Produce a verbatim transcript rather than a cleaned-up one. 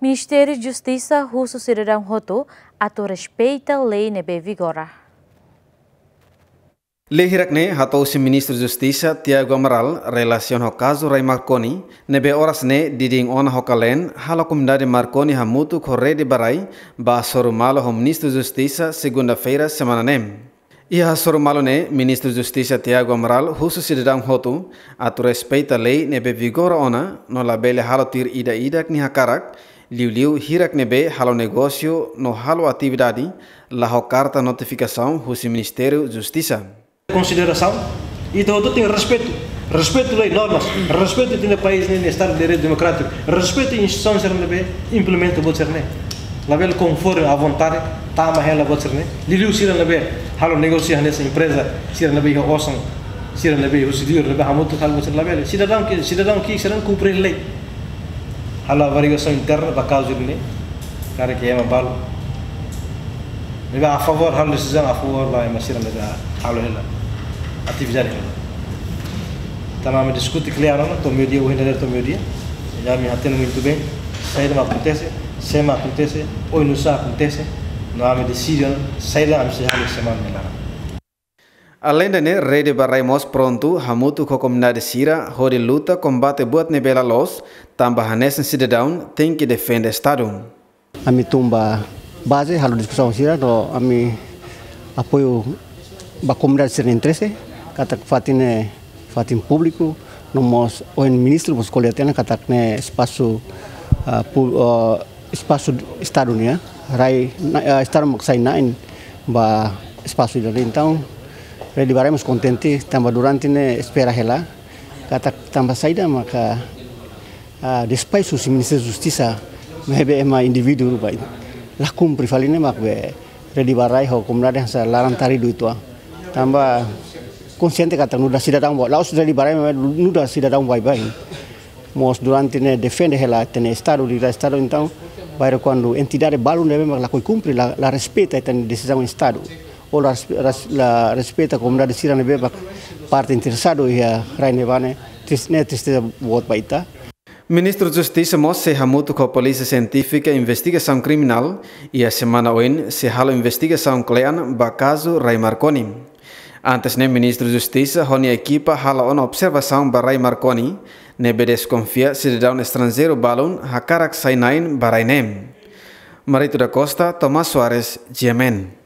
Ministériu Justisa husu sidadaun hotu atu respeita lei ne'ebé vigora. Lei hirak ne'e hato'o husi Ministru Justisa Tiago Amaral relasiona ho kazu rai Marconi, ne'ebé oras ne'e didin ona ho kaleen, halo komunidade Marconi hamutuk ho Rede ba Rai bá hasoru malu ho Ministru Justisa segunda-feira semana ne'e. Iha hasoru malu ne'e, Ministru Justisa Tiago Amaral husu sidadaun hotu atu respeita lei ne'ebé vigora ona, no labele halo tuir ida-idak nia hakarak, liuliu hirak ne'ebé halo negósiu no halo atividade la ho karta notifikasaun husi Ministériu Justisa. Konsiderasaun, ita hotu tenke respeitu. Respeitu lei, normas, respeitu ita-nia país ne'e, Estadu de Direitu Demokrátiku, respeitu instituisaun sira ne'ebé implementa buat sira ne'e. Labele konforme à vontade, tama hela buat sira ne'e. Liuliu sira ne'ebé halo negósiu hanesan empreza, sira ne'ebé iha osan, sira ne'ebé husi liur, ne'ebé hamutuk halo buat sira ne'e labele. Sidadaun ke, sidadaun ke, sira kumpre lei. Halo averiguasaun interna ba kazu ne'e, karik ema balu ne'ebé a favór halo desizaun a favór ba ema sira ne'ebé halo hela atividade hela. Tanba ami diskute klaru ona, to'o meiudia, ohin dadeer to'o meiudia. Ami hatene muito bem saida mak akontese, sé mak akontese, oinsá akontese, no ami deside ona saida ami sei halo semana ne'e laran. Aleinde ne'e, Rede ba Rai mós prontu hamutuk ho komunidade sira hodi luta kombate buat ne'ebé la loos, tanba hanesan sidadaun tenke defende Estadu. Ami tun ba baze halo diskusaun sira, no ami apoiu ba komunidade sira-nia interese, katak fatin ne'e fatin públiku, no mós ohin ministru mós ko'alia tiha ona katak ne'e espasu, ah, pu-, ah, espasu Estadu nian, rai, na-, ah, Estadu mak sai na'in ba espasu ida-ne'e. Entaun, Rede ba Rai mós kontente, tanba durante ne'e espera hela, katak tanba saida maka, ah, despaixu husi Ministériu Justisa, maibé ema indivíduu ba la kumpre fali ne'e mak be Rede ba Rai ho komunidade hanesan laran taridu uitoan. Tanba konsiente katak nu'udar sidadaun ba, la'ós Rede ba Rai maibé nu'udar sidadaun baibain. Mós durante ne'e defende hela ita-nia Estadu, direitu Estadu, entaun, bainhira kuandu entidade balu ne'ebé mak lakohi kumpre, la, la respeita ita-nia desizaun Estadu. Ou la respe-, ras-, la respeita komunidade sira ne'ebé mak parte interesadu iha rai ne'ebá ne'e, tris-, ne'e tristeza boot ba ita. Ministru Justisa mós sei hamutuk ho Polísia Sientífika Investigasaun Kriminál, iha semana oin sei halo investigasaun kle'an ba kazu rai Marconi. Antes ne'e, Ministru Justisa ho nia ekipa halo ona observasaun ba rai Marconi, ne'ebé deskonfia sidadaun estranjeiru balun hakarak sai na'in ba rai ne'e. Marito da Costa, Tomás Soares, G M N.